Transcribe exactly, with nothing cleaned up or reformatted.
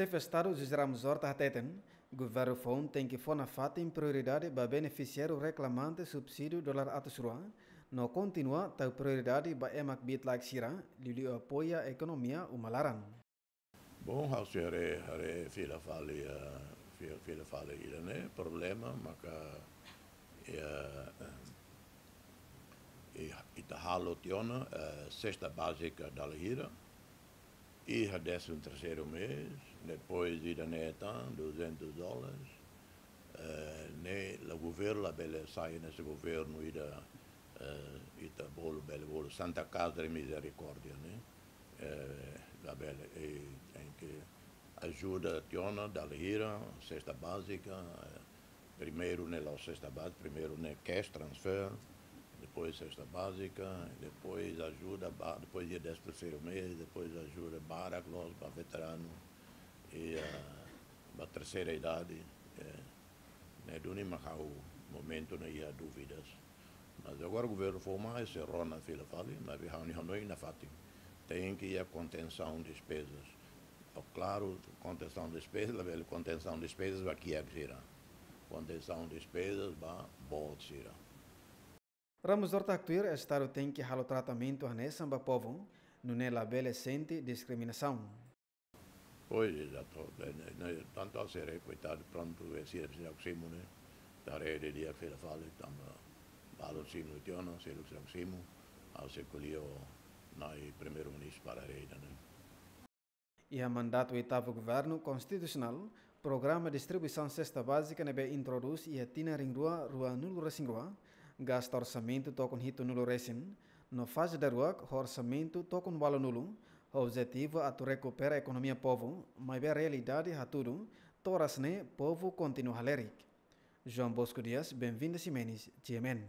Xefe Estadu José Ramos Horta hateten, governu foun tenke fó nafatin prioridade ba benefisiáriu reklamante subsídiu dolar atus rua, no kontinua tau prioridade ba ema kbiit-laek sira, liuliu apoia ekonomia uma laran. Bom, ha'u sei haree, haree fila fali, eh, fi-, fila fali ida-ne'e, problema maka, eh, eh, i-, ita halo tiha ona, eh, sesta bázika dala hira, iha décimo terceiro mês, depois ida-ne'e tan duzentos dólares, eh, ne'e la governu labele sai hanesan governu ida, eh, ita bolu bele bolu Santa Casa de Misericórdia, ne'e? Eh, labele, eh, tenke ajuda tiha ona dala hira, sesta bázika, eh, primeiru ne'e la'ós sesta bázika, primeiru ne'e cash transfer, depois sesta bázika, depois ajuda ba, depois iha décimo terceiro mês, depois ajuda barak loos ba veteranu, i, eh, ba terseira idade, eh, ne'e duni mak ha'u momentu ne'e iha dúvidas. Mas agora governu foun mai, sei rona fila fali, maibé ha'u-nia hanoin nafatin tenke iha kontensaun despezas. Klaru, kontensaun despezas, labele kontensaun despezas ba kiak sira. Kontensaun despezas ba boot sira. Ramos Horta haktuir, Estadu tenke halo tratamentu hanesan ba povu, nune'e labele sente diskriminasaun. Pois, ezatu. Ne'e, ne'e, tantu ha'u sei haree, koitadu, prontu, eh, sira, sira simu, ne'e? Ita haree didi'ak fila fali, tanba balu simu tiha ona, sira, sira simu, ha'u sei ko'alia ho Nai Primeiru-Ministru para haree ida-ne'e. Iha mandatu oitavu Governu Konstitusionál, programa distribuisaun sesta bázika ne'ebé introdús iha tinan rihun rua ruanulu resin rua, gasta orsamentu tokon hitunulu resin, no faze daruak ho orsamentu tokon ualunulu, ho objetivu atu rekupera ekonomia povu, maibé realidade hatudu, toras ne'e povu kontinua halerik. João Bosco Dias, Benvinda Ximenes, G M N.